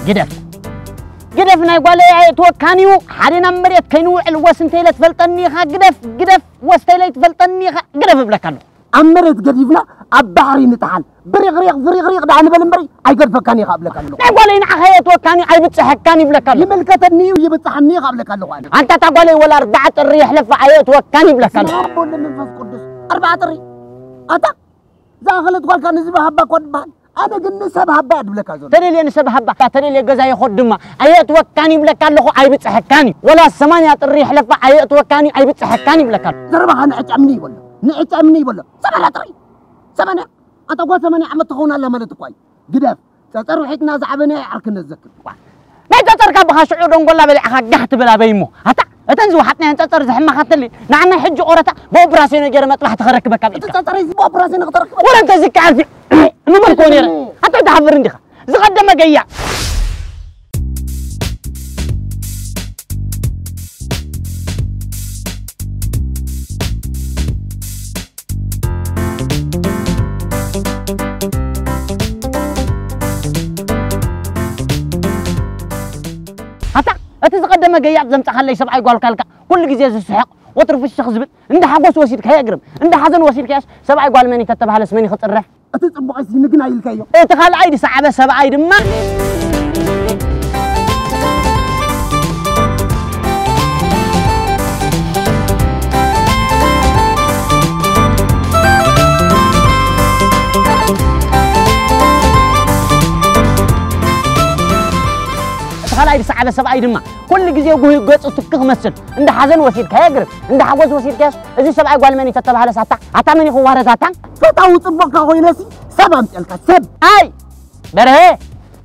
ግደፍ። ግደፍ ናይ ጓለይ ኣየእትወካን እዩ። ሓደ ናብ መሬት ከይንውዕል ወስ እንተኢለ ትፈልጠኒ ኢኻ። ግደፍ፣ ግደፍ፣ ወስ እንተኢለ ትፈልጠኒ ኢኻ። ግደፍ እብለካ ኣለኹ። ኣብ መሬት ገዲፍና ኣብ ባሕሪ ንጥሓል። ብሪቕሪቕ ፍሪቕሪቕ ደኣ ንበል እምበሪ ኣይገድፈካን ኢኻ እብለካ ኣለኹ። ናይ ጓለይ ንዓኻ ኣየእትወካን እዩ፣ ኣይብጽሐካን እዩ እብለካ ኣለኹ። ይምልከተኒ እዩ፣ ይብጽሓኒ ኢኻ እብለካ ኣለኹ ኣነ። ኣንታ እታ ጓለይ ወላ ኣርባዓ ጥሪ የሕለፋ ኣየእትወካን እዩ እብለካ ኣለኹ። ስመ ኣብ ወወልድ ወመንፈስ ቅዱስ። ኣርባዓ ጥሪ። ኣታ ዝኣኸለት ጓልካ ንዝበ ሃባ እኳ ትበሃል። ኣነ ግን ንሰብ ሃባ እያ ድብለካ ዘሎ። ተደልየ ንሰብ ሃባ፣ ተደልየ ገዛ ይኸድ ድማ ኣየእትወካን ይብለካ ኣለኹ፣ ኣይብጽሐካን እዩ። ወላ ሰማንያ ጥሪ ይሕለፋ ኣየእትወካን እዩ፣ ኣይብጽሐካን ይብለካ ኣለኹ። ዘረባኻ ንዕጨምኒ ይበሎ፣ ንዕጨምኒ ይበሎ። ሰማንያ ጥሪ፣ ሰማንያ። ኣታ ጓል ሰማንያ ዓመት ትኸውን ኣላ ማለት እኳ እዩ። ግደፍ፣ ጸጸር ውሒጥና ዝዓበና ይዓርክነት ዘክር። ናይ ጸጸርካ ብኻ ሽዑ ደንጎላ በሊዕኻ ጋህ ትብል ኣበይ እሞ። ኣታ፣ እተን ዝወሓጥናየን ጸጸር ዝሕመኻትሊ፣ ንዓና ሕጂ ቆረታ ብኦፕራሲዮን ገይረ መጥባሕቲ ከረክበካ እቲ ብኢልካ። ጸጸረይ እዚ ብኦፕራሲዮን ክተረክበ? ወረ እንተ ዝከኣል ሲ-፣ ንብል ኮ ነይረ። ኣታ ትሓፍር እንዲኻ። ዝቐደመ ገያ። ኣታ፣ እቲ ዝቐደመ ገያጽ ዘምጻኻለይ ሰብኣይ ጓልካ ኢልካ ኩሉ ግዜ ዝስሕቕ፣ ወትሩ ፍሽኽ ዝብል፣ እንዳ ሓጎስ ወሲድካዮ የግርም፣ እንዳ ሓዘን ወሲድካዮስ ሰብኣይ ጓል መን እዩ ተተባህለስ መን እዩ ክጽረፍ? እቲ ጽቡቕ ኣይሲ ንግና ኢልካዮ። እቲ ካልኣይ ዝሰዓበ ሰብኣይ ድማ እቲ ካልኣይ ዝሰዓበ ሰብኣይ ድማ ኩሉ ግዜ ጉሂ ገጹ ትክ ክመስል፣ እንዳ ሓዘን ወሲድካዮ ግርም፣ እንዳ ሓጎስ ወሲድካዮስ፣ እዚ ሰብኣይ ጓል መን እዩ ተተባህለስ ኣታ፣ ኣታ መን እዩ ክዋረስ ኣታ? ፈታዊ ጽቡቕካ ኮይነሲ ሰብ ኣምጽልካ፣ ሰብ። ኣይ! በርሀ!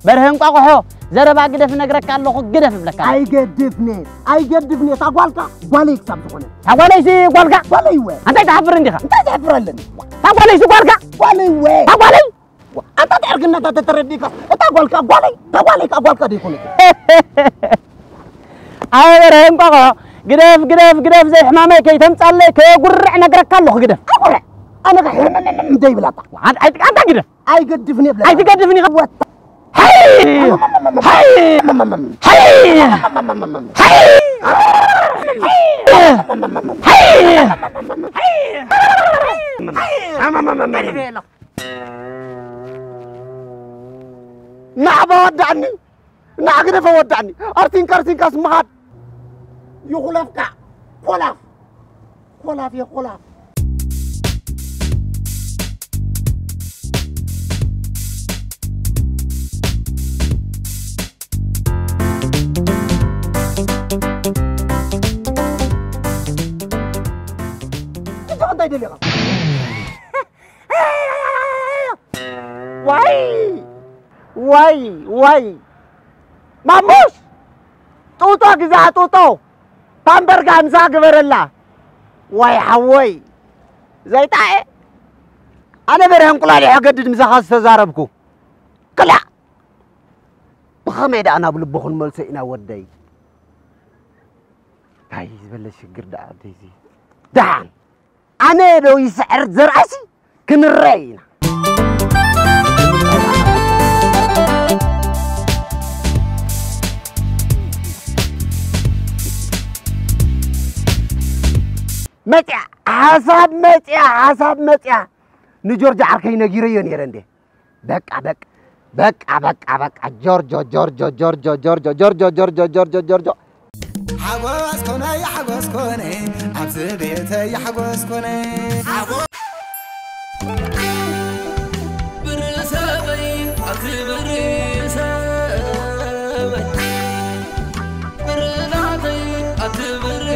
በርሀ እንቋቑሖ! ዘረባ ግደፍ እነግረካ ኣለኹ፣ ግደፍ እብለካ። ኣይገድፍኔ፣ ኣይገድፍኔ፣ እታ ጓልካ ጓለይ ክሳብ ዝኾነ። እታ ጓለይሲ ጓልካ? ጓለይ እወ። ኣንታይ ትሓፍር እንዲኻ? እንታይ ዘሕፍር ኣለኒ? እታ ጓለይሲ ጓልካ? ጓለይ እወ። እታ ጓለይ? ኣንታ ትዕርግነታ ተተረዲእካ፣ እታ ጓልካ ጓለይ፣ እታ ጓለይ ከኣ ጓልካ ደይኮነት። ኣበረ እንቋቑሖ፣ ግደፍ፣ ግደፍ፣ ግደፍ፣ ዘይሕማመይ ከይተምጻለይ፣ ከየጉርዕ ነግረካ ኣለኹ፣ ግደፍ። ኣጉርዕ፣ ኣነ ከ ሕምምም ዘይብላታ። ኣን-፣ ኣይ-፣ ኣንታ ግደፍ። ኣይገድፍን እየ ብለካ። ኣይትገድፍን ኢኻ። ወታ። ሃይ! ሃይ! ሃይ! ሃይ! ሃይ! ሃይ! ናዕባ ወዳእኒ፣ ናዕግደፈ ወዳእኒ። ኣርቲንካ ኣርቲንካስ ምኻድ ይኹለፍካ። ኮላፍ፣ ኮላፍ፣ የኮላፍ። እንታይ ደሊኻ? ዋይ! ዋይ! ዋይ! ማሙሽ! ጡጦ ግዛ ጡጦ! ፓምበር ጋምሳ ግበረላ! ዋይ ሓወይ! ዘይጣኤ! ኣነ በርሀ እንቁላሊሕ ኣገድድ ምሳኻ ዝተዛረብኩ። ክላእ! ብኸመይ ደኣ ናብ ልቡ ክንመልሶ ኢና ወደይ? እንታይ ዝበለ ሽግር ደኣ ወደይዚ? ደሓን! ኣነ ዶ ይስዕር ዘርኣሲ ክንረኣይ ኢና። መጽያ፣ ሓሳብ መጽያ፣ ሓሳብ መጽያ። ንጆርጅ ዓርከይ ነጊረዮ ነይረ እንዴ? በቃ፣ በቃ፣ በቃ፣ በቃ፣ በቃ፣ ጆርጆ፣ ጆርጆ፣ ጆርጆ፣ ጆርጆ፣ ጆርጆ፣ ጆርጆ፣ ጆርጆ፣ ጆርጆ። ሓጎስ ኮነ፣ ሓጎስ ኮነ፣ ኣብዚ ቤተይ ሓጎስ ኮነ። ብርሰበይ፣ ኣብዚ ብርሰበይ፣ ብርናተይ፣ ኣብዚ ብርዓይ።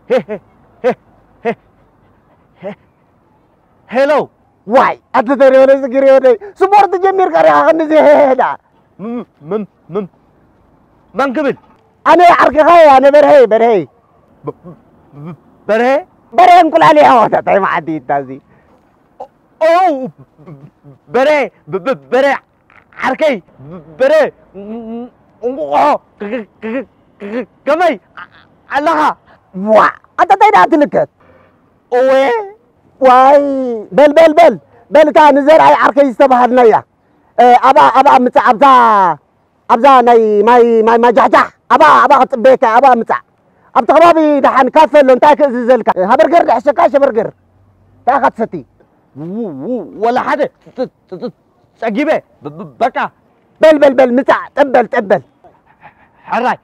ሄ፣ ሄ፣ ሄ፣ ሄ፣ ሄ፣ ሄ። ሄሎ። ዋይ፣ ኣንተ ተሪዮነ ዝግሪ ወደይ። ስፖርት ጀሚርካ ዲኻ ክንዚ ሄ፣ ሄ፣ ሄ፣ ዳ? ም-፣ ም-፣ ም-፣ መን ክብል? ኣነ ዓርክኻ እየ፣ ኣነ በርሀ፣ በርሀ። ብ-፣ ብ-፣ በርሀ? በርሀ እንቁላሊሕ ወተታይ መዓዲ ይታዚ። ኦ፣ በሬ፣ በ-፣ በ-፣ በሬ ዓርከይ፣ በሬ እንቁቑሖ፣ ከ-፣ ከ-፣ ከ-፣ ከ-፣ ከመይ ኣለኻ? ዋ፣ ኣንታ እንታይ ደኣ ትልከት? እወ። ዋይ፣ በል፣ በል፣ በል፣ በል፣ እታ ንዘርኣይ ዓርከይ ዝተባሃልናያ። እ፣ ኣብኣ፣ ኣብኣ ምጻእ፣ ኣብዛ፣ ኣብዛ ናይ ማይ፣ ማይ ማጃሕጃሕ፣ ኣብኣ፣ ኣብኣ ክጽበየካ፣ ኣብኣ ምጻእ። ኣብቲ ከባቢ ደሓን ካፈ ኣሎ፣ እንታይ ክእዝዘልካ? እ፣ ሃበርገር ድሕሸካ፣ ሸበርገር። እንታይ ኢኻ ትሰቲ? ው-፣ ው-፣ ወላ ሓደ ጸ-፣ ጸ-፣ ጸ-፣ ጸጊበ፣ ብ-፣ ብ-፣ በቃ። በል፣ በል፣ በል፣ ምጻእ፣ ጠበል፣ ጠበል። ሕራይ፣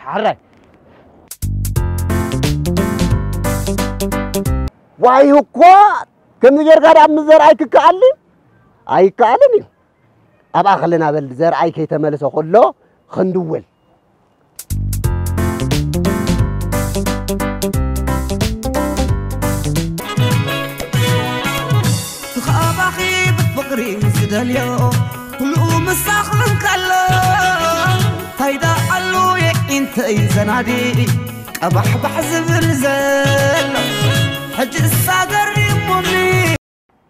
ሕራይ። ዋይ እኮ፣ ከምዚ ጌርካ ደኣ ምስ ዘርኣይ ክከኣል ድዩ? ኣይከኣልን እዩ። ኣብኣ ከለና በል ዘርኣይ ከይተመልሰ ከሎ ክንድውል። ትኻባኺ ብፍቕሪ ዝደልዮ ኩሉ ምሳኽ እንከሎ ፋይዳ ኣሉ የዒንተይ ዘናዲ ቀባሕባሕ ዝብል ዘሎ ሕጂ እሳ ገሪሙኒ።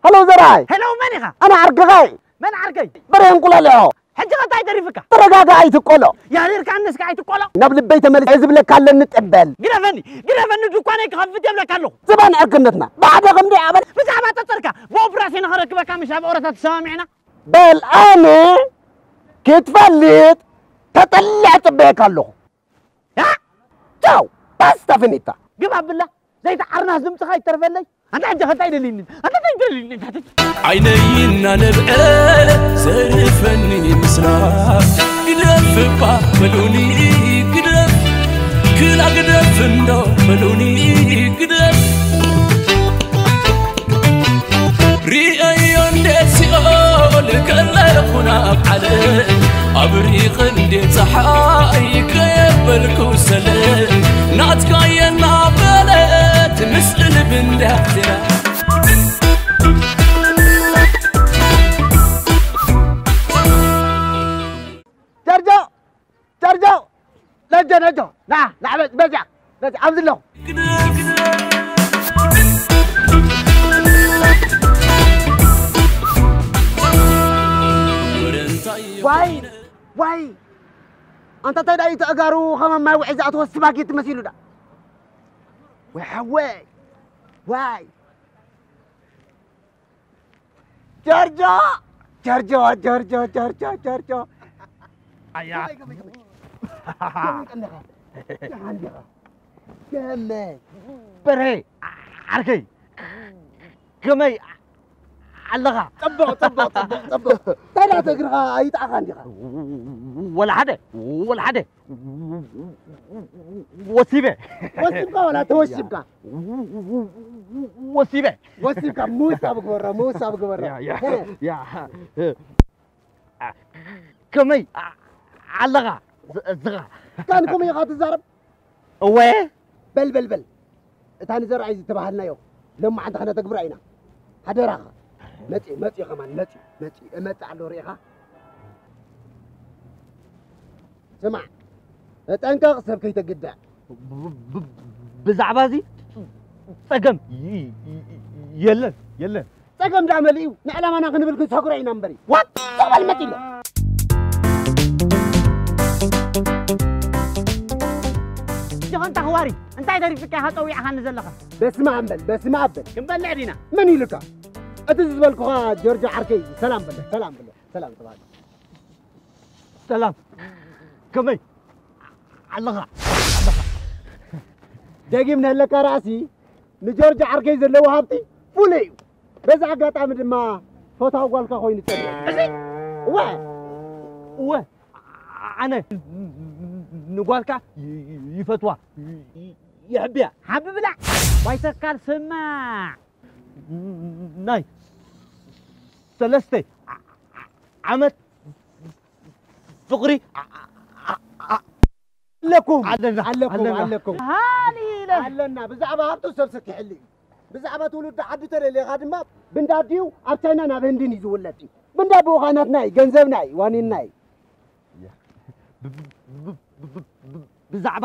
ሃሎ ዘርኣይ፣ ሄሎ፣ መን ኢኻ? ኣነ ዓርክኻ እየ። መን ዓርከይ? በሬ እንቁላሊዖ። ሕጂ ኸ እንታይ ተሪፍካ? ተረጋጋ ኣይትቆሎ። ያሪርካ ኣነስካ ኣይትቆሎ። ናብ ልበይ ተመልሰ እየ ዝብለካ ኣለኒ ጠበል። ግደፈኒ፣ ግደፈኒ፣ ድኳነይ ክኸፍት እየ ብለካ ኣለኹ። ዝባን ዕርክነትና ብሓደ ከምዲ ኣበል። ብዛዕባ ጠጠርካ ብኦፕራሲዮን ንኸረክበካ ምሽ ኣብ ኦረታ ተሰማሚዕና። በል ኣነ ክትፈልጥ ተጠሊዐ ጽበየካ ኣለኹ። ያ! ቻው፣ ባስታ ፊኒታ። ግባ ብላ፣ ዘይትዓርናስ ድምፅኻ ይተርፈለይ። ኣንታ ሕጂ ኸ እንታይ ደልይኒ? ኣንታ እንታይ ደልይኒ? ኣንታ እንታይ ዓይነይ እናነብዐ ዘርፈኒ ምስላ ግደፍ እባ በሉኒ ግደፍ ክላ ግደፍ እንዶ በሉኒ ግደፍ ሪአዮ እንዴት ሲኦል ከለኹ ናብ ዓለም ኣብሪቕ እንዴት ፀሓይ ከየበልኩ ሰለም ናትካየ እናበለት ምስእል ብንዳፍትያ ጀርጆ፣ ጀርጆ፣ ነጆ፣ ነጆ፣ ና፣ ና፣ በዚያ፣ በዚያ፣ ኣብዚ ኣለኹ። ዋይ፣ ዋይ፣ ኣንታ እንታይ ደኣ እዩ ተእጋሩ ኸም ኣብ ማይ ውዒ ዝኣተወ ስባጌቲ መሲሉ ደኣ። ወይ ሓወይ፣ ዋይ። ጆርጆ! ጆርጆ! ጆርጆ! ጆርጆ! ጆርጆ! ጆርጆ! ኣያ ከመይ፣ ከመይ፣ ከመይ? ከመይ ቀኒኻ? ደሓን ዲኻ? ከመይ? በርሄ ዓርከይ ከመይ ኣለኻ? ጽቡቕ፣ ጽቡቕ፣ ጽቡቕ፣ ጽቡቕ። እንታይ ደኣ እቲ እግርኻ ኣይጠዓኻን ዲኻ? ወላ ሓደ፣ ወላ ሓደ። ወሲበ። ወሲብካ ዋላ ተወሲብካ? ወሲበ። ወሲብካ፣ ምውሳብ ግበሮ፣ ምውሳብ ግበሮ። ያ፣ ያ፣ ያ። ከመይ ኣለኻ? ዝኻ? ካን ከምኡ ኢኻ ትዛረብ? እወ። በል፣ በል፣ በል። እታ ንዘርኣይ ዝተባሃልናዮ ሎማዓንቲ ኸነተግብራ ኢና። ሓደራኻ። መጺኡ፣ መጺኡ ኸማን፣ መጺኡ፣ መጺኡ። እመጽእ ኣሎ ርኢኻ? ስማዕ፣ ተጠንቀቕ፣ ሰብ ከይተግድዕ። ብ-፣ ብ-፣ ብ-፣ ብዛዕባ እዚ ጸገም ይ-፣ ይ-፣ ይ-፣ የለን፣ የለን። ጸገም ደኣ መሊኡ፣ ንዕላማና ክንብል ክንሰግሮ ኢና እምበሪ። ዋጥ በል መጺኡ ኣሎ። ጆኸንታ ክዋሪ፣ እንታይ ተሪፍካ ኢኻ ጸዊዕኻኒ ዘለኻ? በስመ ኣብ በል፣ በስመ ኣብ በል። ክንበልዕ ዲና? መን ኢሉካ? እቲ ዝበልኩኻ ጆርጆ ዓርከይ፣ ሰላም በሎ፣ ሰላም በሎ፣ ሰላም ተባሃሉ። ሰላም፣ ከመይ ኣለኻ? ኣለኻ? ደጊም ነለካ ራእሲ ንጆርጆ ዓርከይ ዘለዎ ሃብቲ ፍሉይ እዩ። በዚ ኣጋጣሚ ድማ ፈታዊ ጓልካ ኮይኑ ጸኒሑ። እዚ? እወ። እወ። ኣነ ንጓልካ ይፈትዋ፣ ይሕብያ። ሓቢ ብላዕ። ዋይ ተካል ስማዕ። ናይ ሰለስተ ዓመት ፍቕሪ ኣለኩም። ኣለና፣ ኣለኩም፣ ኣለና። ኣለኩም። ሃሊለ። ኣለና። ብዛዕባ ሃብቱ ሰብ ሰኪሕሉ እዩ። ብዛዕባ ትውልዲ ዓዱ ተለሌኻ ድማ ብንዳዲኡ ኣብ ቻይና ናብ ህንድን እዩ ዝውለድ እዩ። ብንዳ ብኡ ኸዓ ናትና እዩ፣ ገንዘብና እዩ፣ ዋኒንና እዩ። ብዛዕባ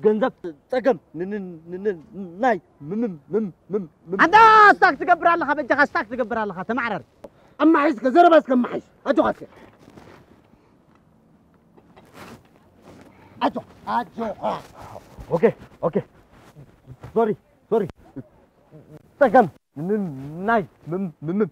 ገንዘብ ጸገም ን-፣ ን-፣ ን-፣ ን-፣ ናይ ምም-፣ ምም-፣ ምም-፣ ምም-፣ ኣንታ ስታክ ትገብር ኣለኻ፣ በጃኻ ስታክ ትገብር ኣለኻ፣ ተማዕረር። ኣማሒስከ፣ ዘረባ እስከ ኣማሒስ። ኣጆኻ እስከ። ኣጆ-፣ ኣጆኻ። ኦኬ፣ ኦኬ። ሶሪ፣ ሶሪ። ጸገም ን-፣ ን-፣ ናይ ምም-፣ ምም-፣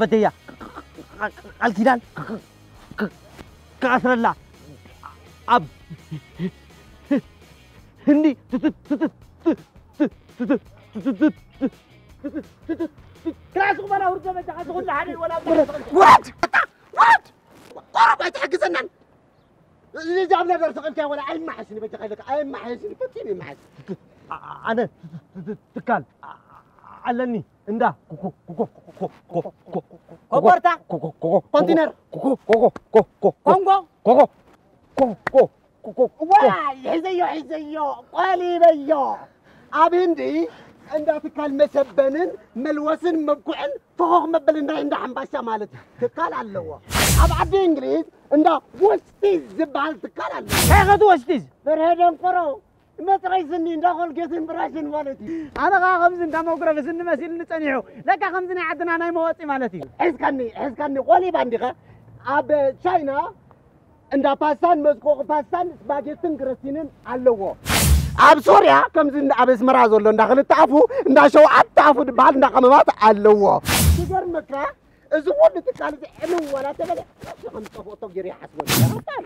ፈተያ ቃል ኪዳን ክኣስረላ ኣብ ህንዲ ክላስ ቁመና ውርዶ በጃ ዝኹሉ ሓደ ወላ ወድ ወድ ቆረብ ኣይትሕግዘናን። እዚ ኣብና ደርሰ ቀልካ ወላ ኣይመሓስን በጃ ከለካ ኣይመሓስን ፈጺሙ ይመሓስ። ኣነ ትካል ኣለኒ እንዳ ኮቦርታ ኮንቲነር ኮንጎ ዋይ ሒዘዮ ሒዘዮ ቆሊበዮ። ኣብ ህንዲ እንዳ ትካል መሰበንን መልወስን መብኩዕን ፈኾኽ መበል እንዳ እንዳ ሓምባሻ ማለት እዩ። ትካል ኣለዎ። ኣብ ዓዲ እንግሊዝ እንዳ ወስቲዝ ዝበሃል ትካል ኣሎ። እንታይ ኸ እቲ ወስቲዝ? በርሀ ደንቆሮ መፅረይ ስኒ እንዳ ኮልጌትን ብራሽን ማለት እዩ። ኣነ ኸዓ ከምዚ እንዳ መጉረፊ ስኒ መሲልኒ ፀኒሑ። ለካ ከምዚ ናይ ዓድና ናይ መወፂ ማለት እዩ። ሒዝካኒ ሒዝካኒ ቆሊባ እንዲኻ። ኣብ ቻይና እንዳ ፓስታን መዝቆቑ ፓስታን ስፓጌትን ግረሲንን ኣለዎ። ኣብ ሶርያ ከምዚ እንዳ ኣብ ኣስመራ ዘሎ እንዳ ክልተ ኣፉ እንዳ ሸውዓተ ኣፉ ዝበሃል እንዳ ቀመማት ኣለዎ። ይገርመካ እዚ ኩሉ ትካል እዚ ዕንው ዋላ ተበለ ንሱ ከም ዝጠፍኦ ቶም ገይሩ ይሓስቦ።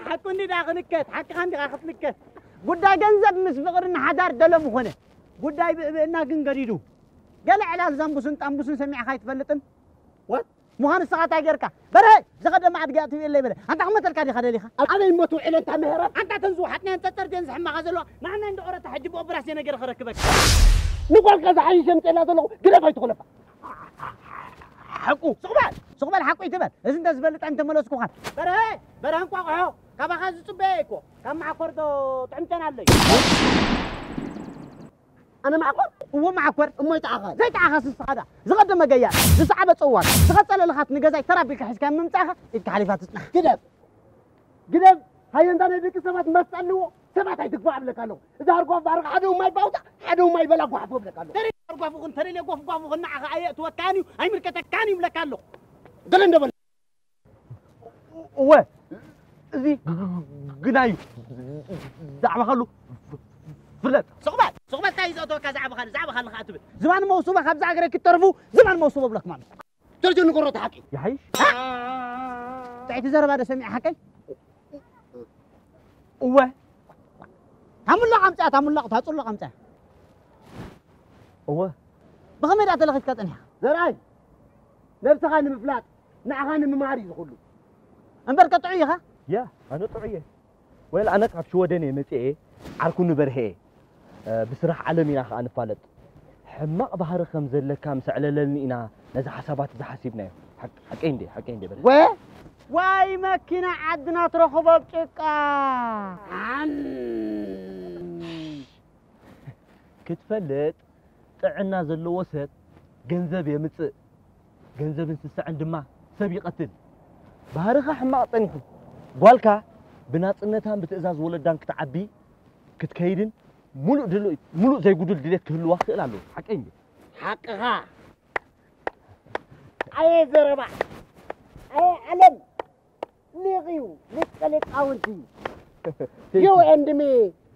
ሓቁ እንዲ ደኣ ክንከት ሓቅኻ እንዲኻ ክትንከት። ጉዳይ ገንዘብ ምስ ፍቕሪ ንሓዳር ደሎ ምኾነ ጉዳይ ብእብእና ግን ገዲዱ። ገለ ዕላል ዛምቡስን ጣምቡስን ሰሚዕኻ ኣይትፈልጥን? What? ምዃኑ ንስኻ እንታይ ጌርካ? በርሀ! ዝኸደ ማዕድ ገያ ትብየለይ በለ። ኣንታ ክመተልካ ዲኻ ደሊኻ? ኣበይ እሞ ትውዕል ኣንታ ምህረት? ኣንታ ተን ዝወሓጥናየን ጠጠር ድየን ዝሕማኻ ዘለዋ? ንዓና እንዶ ኦረታ ሕጂ ብኦፕራስዮ ነገር ክረክበካ። ንጓልካ ዝሓይሽ የምፅእላ ዘለኹ ግደፍ ኣይትኹለፋ። ሓቁ። ሱቕ በል! ሱቕ በል ሓቁ ይትበል። እዚ እንተ ዝፈልጥ ኣይምተመለስኩኻን። በርሀ! በርሀ እንቋቑሖ! ካባኻ ዝጽበየ እኮ። ካብ መዓኮር ዶ ጥዕምተን ኣለዩ? ኣነ መዓኮር? እዎ መዓኮር። እሞ ይጠዓኻል? ዘይጠዓኻስ ንስኻ ደኣ። ዝቐደመ ገያር፣ ዝሰዓበ ጸዋር፣ ዝቐጸለ ልኻት ንገዛይ ተራ ኣቢልካ ሒዝካዮ ምምጻእኻ ኢድካ ሓሊፋ ትጽናሕ። ግደፍ! ግደፍ! ሃየንታ ናይ ደቂ ሰባት መስጣ ኣለዎ። ሰባት ኣይትግፋዕ እብለካ ኣለኹ። እዚ ሃርጓፍ ባርኻ ሓደ እማ ይባውታ፣ ሓደ እማ ይበላ ጓሓፎ እብለካ ኣለኹ። ተደልየ ሃርጓፍ ይኹን ተደልየ ጎፍጓፍ ይኹን ንዓኻ ኣየእትወካን እዩ፣ ኣይምልከተካን እዩ እብለካ ኣለኹ። ገለ እንደበለ እወ፣ እዚ ግናይ እዩ። ዛዕባ ኸሉ ፍለጥ። ሱቕ በል፣ ሱቕ በል፣ እንታይ እዩ ዘእተወካ ዛዕባ ኻልእ፣ ዛዕባ ኻልእ ኸዓ ትብል። ዝባን መውስቦ ካብ ዛዕገረ ክትተርፉ፣ ዝባን መውስቦ ብለክ ማለት። ጆርጆ ንገሮ እቲ ሓቂ። ይሓይሽ? ጥዕይቲ ዘረባ ዶ ሰሚዐ ሓቀይ? እወ። ታሙላቕ ኣምፅኣ፣ ታሙላቕ፣ ታፁላቕ ኣምፅኣ። እወ። ብኸመይ ደኣ ተለኺፍካ ጸኒሕካ? ዘርኣይ፣ ነብስኻ ንምፍላጥ፣ ንዓኻ ንምምሃር እዩ ዝኹሉ። እምበርከ ጥዑይ ኢኻ? ያ፣ ኣነ ጥዑይ እየ። ወይል ኣነ ካብ ሽወደን እየ መጺኤ፣ ዓርኩ ንበርሄ እየ። እ፣ ብስራሕ ዓለም ኢና ኸኣ ንፋለጥ። ሕማቕ ባህሪ ከም ዘለካ ምስ ኣዕለለኒ ኢና ነዚ ሓሳባት እዚ ሓሲብናዮ። ሓቅ-፣ ሓቀይ እንዴ? ሓቀይ እንዴ በለ? ወ-? ዋይ መኪና ዓድና ትረኽቦ ኣብ ጭቃ። ኣን-፣ ክትፈልጥ ጥዕና ዘለዎ ሰብ ገንዘብ የምጽእ፣ ገንዘብን ስስዐን ድማ ሰብ ይቐትል። ባህርኻ ሕማቕ ጸኒሑ፣ ጓልካ ብናጽነታን ብትእዛዝ ወለዳን ክትዓቢ ክትከይድን ሙሉእ ድሉ-፣ ሙሉእ ዘይጉዱል ድሌት ክህልዋ ክኽእል ኣለዎ። ሓቀይ እንዴ? ሓቅኻ። ኣየ ዘረባ፣ ኣየ ዓለም፣ ሊቕ እዩ፣ ሊቀ ሊቃውንቲ። You and me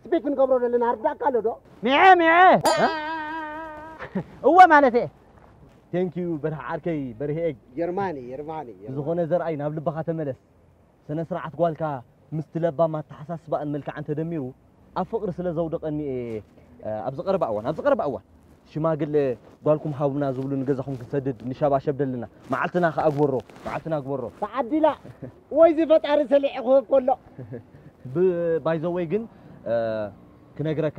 speak ንገብሮ ዘለና ኣርዳእካ ኣሎ ዶ? ሚዐ፣ ሚዐ። እወ ማለት እየ። Thank you በርሀ ዓርከይ፣ በርሀ ኤግ። የርማኒ፣ የርማኒ፣ የርማኒ። ብዝኾነ ዘርኣይ ናብ ልብኻ ተመለስ። ስነ ስርዓት ጓልካ ምስቲ ለባም ኣተሓሳስባኣን መልክዓን ተደሚሩ ኣብ ፍቕሪ ስለ ዘውደቐኒ እየ፣ እ፣ ኣብዚ ቀረባ እዋን፣ ኣብዚ ቀረባ እዋን ሽማግለ ጓልኩም ሃቡና ዝብሉ ንገዛኹም ክንሰድድ ንሸባሸብ ደለና። መዓልትና ከኣ ግበሮ፣ መዓልትና ግበሮ። ተዓዲላ ወይ እዚ ፈጣሪ ሰሊዑ ክህብ ከሎ። ብ-፣ by the way ግን፣ እ፣ ክነግረካ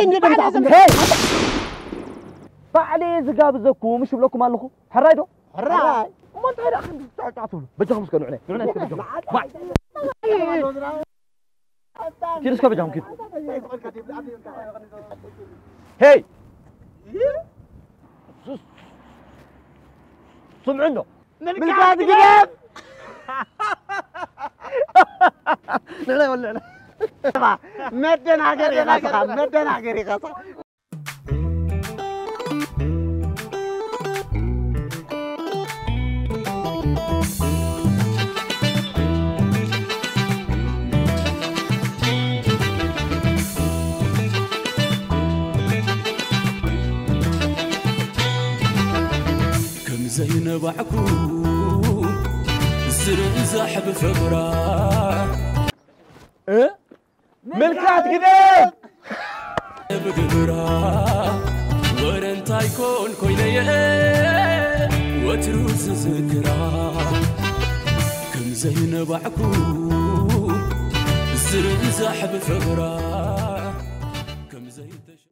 እንዴት ነው የምታውቁት? ሄይ! ባዕለይ ዝጋብዘኩም እሺ ብለኩም ኣለኹ። ሕራይ ዶ? ሕራይ። እሞ እንታይ ደኣ ክንዲ ጫጫ ትብሉ? በጃኹም እስከ ንዑ ነይ። ንዑ ነይ እስከ በጃኹም። ባይ። ኪዱ እስከ በጃኹም ኪዱ። ሄይ! ስምዑ እንዶ። ምልካት ግደፍ! ንዕና ይበልዕና። መደናገር ኢኻ ስኻ፣ መደናገር ኢኻ ስኻ። ከም ዘይነባዕኩ ዝርእ ዛሕቢ ፍቕራ እ? ምልካት ግደፍ! ብግብራ ወረ እንታይ ኮን ኮይነየ ወትሩ ዝዝክራ ከም ዘይነባዕኩ ዝርእ ዛሕቢ ፍቕራ ከም ዘይተሸ